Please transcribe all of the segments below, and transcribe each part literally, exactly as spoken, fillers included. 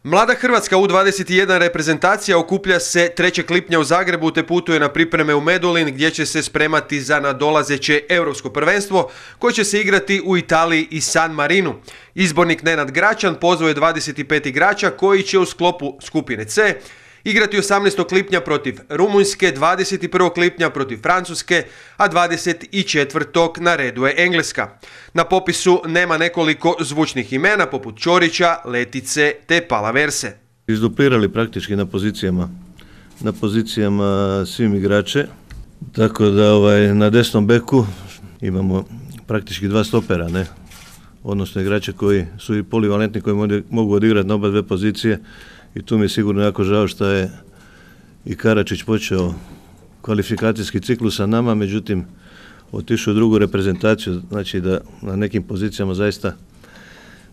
Mlada Hrvatska U dvadeset jedan reprezentacija okuplja se trećeg lipnja u Zagrebu te putuje na pripreme u Medulin gdje će se spremati za nadolazeće europsko prvenstvo koje će se igrati u Italiji i San Marinu. Izbornik Nenad Gračan pozvao je dvadeset pet igrača koji će u sklopu skupine C igrati osamnaestog lipnja protiv Rumunjske, dvadeset prvog lipnja protiv Francuske, a dvadeset četvrtog na redu je Engleska. Na popisu nema nekoliko zvučnih imena poput Ćorića, Letice te Palaverse. Izduplirali praktički na pozicijama, na pozicijama svim igrače, tako da ovaj, na desnom beku imamo praktički dva stopera, ne? Odnosno igrače koji su i polivalentni, koji mogu odigrati na oba dve pozicije. I tu mi je sigurno jako žao što je i Karačić počeo kvalifikacijski ciklus sa nama, međutim otišao u drugu reprezentaciju, znači da na nekim pozicijama zaista,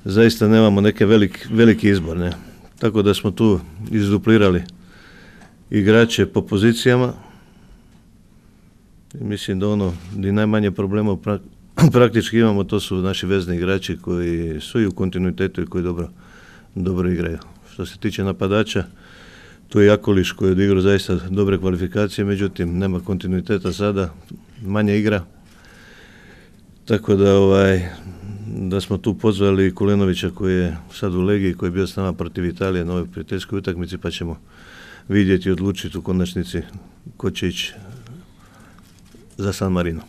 zaista nemamo neke velik, veliki izbor. Ne? Tako da smo tu izduplirali igrače po pozicijama. I mislim da ono gdje najmanje problema praktički imamo, to su naši vezni igrači koji su i u kontinuitetu i koji dobro, dobro igraju. Što se tiče napadača, tu je Jakolić koji je odigrao zaista dobre kvalifikacije, međutim nema kontinuiteta sada, manje igra. Tako da, ovaj, da smo tu pozvali Kulenovića koji je sad u Legiji, koji je bio s nama protiv Italije na ovoj prijateljskoj utakmici, pa ćemo vidjeti i odlučiti u konačnici ko će ići za San Marino.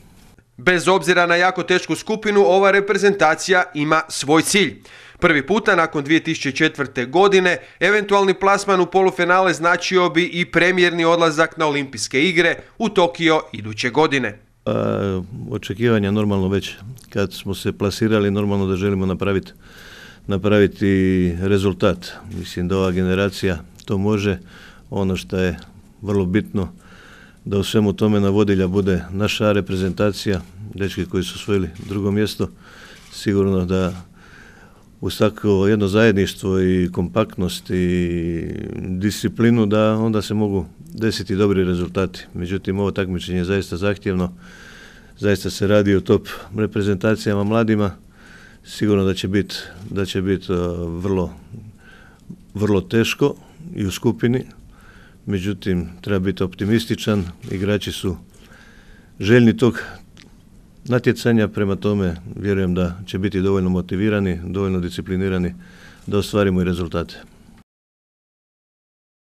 Bez obzira na jako tešku skupinu, ova reprezentacija ima svoj cilj. Prvi puta nakon dvije tisuće četvrte. godine eventualni plasman u polufinale značio bi i premijerni odlazak na olimpijske igre u Tokio iduće godine. A, očekivanja normalno već kad smo se plasirali, normalno da želimo napraviti, napraviti rezultat. Mislim da ova generacija to može. Ono što je vrlo bitno da u svemu tome na vodilja bude naša reprezentacija, dečki koji su osvojili drugo mjesto, sigurno da uz takvo jedno zajedništvo i kompaktnost i disciplinu da onda se mogu desiti dobri rezultati. Međutim, ovo takmičenje je zaista zahtjevno, zaista se radi o top reprezentacijama mladima, sigurno da će biti da će biti vrlo, vrlo teško i u skupini. Međutim, treba biti optimističan, igrači su željni tog natjecanja, prema tome vjerujem da će biti dovoljno motivirani, dovoljno disciplinirani da ostvarimo i rezultate.